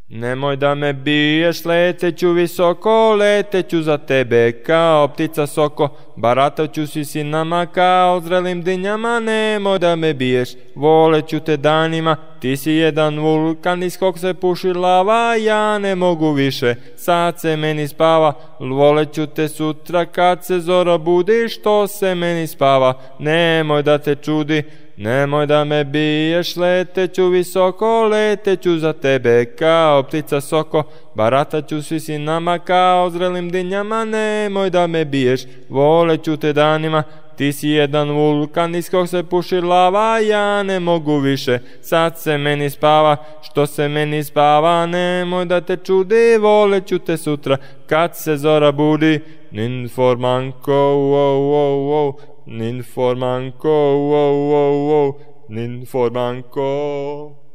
Nemoj da me biješ, leteću visoko, leteću za tebe kao ptica soko. Barataću si sinama kao zrelim dinjama, nemoj da me biješ, voleću te danima. Ti si jedan vulkan iz kog se puši lava, ja ne mogu više, sad se meni spava. Voleću te sutra kad se zora budi, što se meni spava, nemoj da te čudi. Nemoj da me biješ, leteću visoko, leteću za tebe kao ptica soko. Barataću si sinama kao zrelim dinjama, nemoj da me biješ, voleću te danima. Ti si jedan vulkan iz kog se puši lava, ja ne mogu više, sad se meni spava, što se meni spava, nemoj da te čudi, voleću te sutra kad se zora budi. Ninformanko, wow, wow, wow. Ninformanko, wow, wow, wow. Ninformanko.